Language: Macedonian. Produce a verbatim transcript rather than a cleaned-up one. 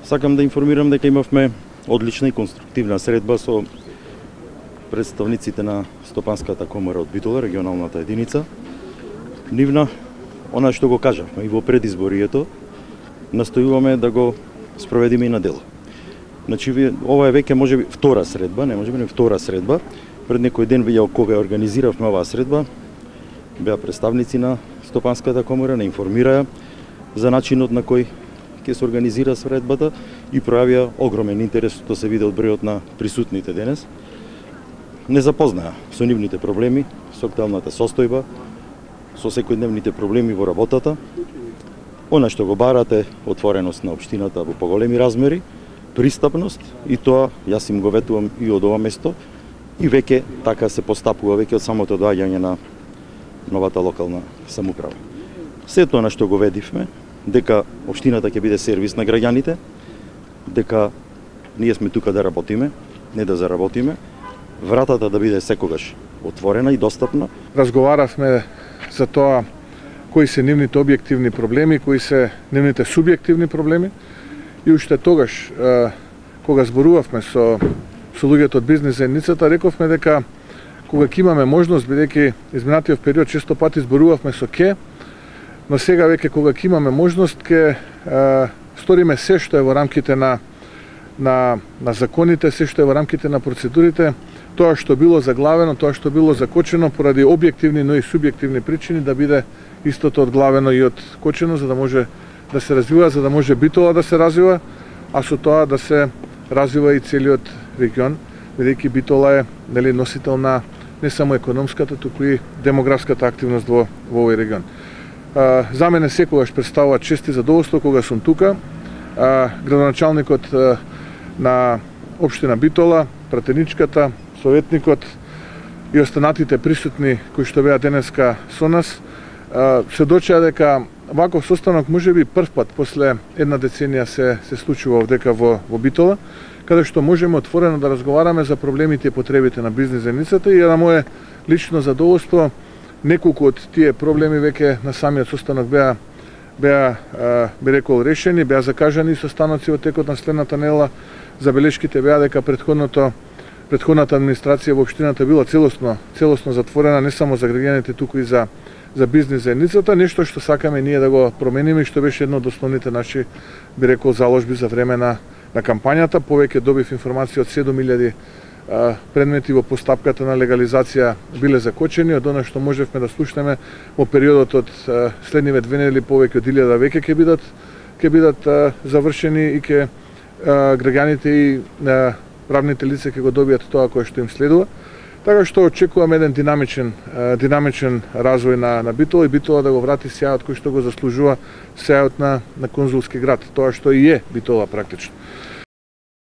Сакам да информирам дека имавме одлична и конструктивна средба со представниците на Стопанската комора од Битола, регионалната единица. Нивна, она што го кажавме и во предизборието, настојуваме да го спроведиме и на дело. Значи, ова е веќе можеби втора средба, не можеби не втора средба. Пред некој ден веќе кога ја организиравме оваа средба, беа представници на Стопанската комора, не информираа за начинот на кој ќе се организира средбата и пројавија огромен интерес, што се виде од бројот на присутните денес. Не запознаа со нивните проблеми, со актуелната состојба, со секојдневните проблеми во работата. Она што го барате, отвореност на општината во поголеми размери, пристапност, и тоа јас им го ветувам и од ова место, и веќе така се постапува веќе од самото доаѓање на новата локална самоуправа. Сето она што го ведивме, дека општината ќе биде сервис на граѓаните, дека ние сме тука да работиме, не да заработиме, вратата да биде секогаш отворена и достапна. Разговаравме за тоа кои се нивните објективни проблеми, кои се нивните субјективни проблеми, и уште тогаш, кога зборувавме со, со луѓето од бизнес заедницата, рековме дека кога ќе имаме можност, бидејќи изминатиот период често пати зборувавме со ке, но сега веќе кога ќе имаме можност, ќе сториме се што е во рамките на, на, на законите, се што е во рамките на процедурите, тоа што било заглавено, тоа што било закочено поради објективни, но и субјективни причини, да биде истото одглавено и откочено, за да може да се развива, за да може Битола да се развива, а со тоа да се развива и целиот регион, бидејќи Битола е, нели, носител на не само економската, туку и демографската активност во, во овој регион. А, за мене секогаш представува чест и задоволство кога сум тука. А, градоначалникот а, на општина Битола, пратеничката, советникот и останатите присутни кои што беа денеска со нас, а, сведочеа дека ваков состанок можеби прв пат после една деценија се се случува овдека во во Битола, каде што можеме отворено да разговараме за проблемите и потребите на бизнес заедницата, и на мое лично задоволство неколку од тие проблеми веќе на самиот состанок беа беа би рекол решени, беа закажани состаноци во текот на следната недела. Забелешките беа дека претходното претходната администрација во општината била целосно целосно затворена не само за граѓаните, туку и за за бизнес заедницата, нешто што сакаме ние да го промениме и што беше едно од основните наши, би рекол, заложби за време на на кампањата. Повеќе добив информација од седум илјади предмети во постапката на легализација биле закочени, од она што можевме да слушнеме во периодот од следниве две недели, повеќе од илјада веќе ќе бидат ќе бидат завршени и ќе граѓаните и правните лица ќе го добијат тоа кое што им следува. Така што очекуваме еден динамичен динамичен развој на на Битола, и Битола да го врати сјајот кој што го заслужува, сјајот на на конзулски град, тоа што и е Битола практично.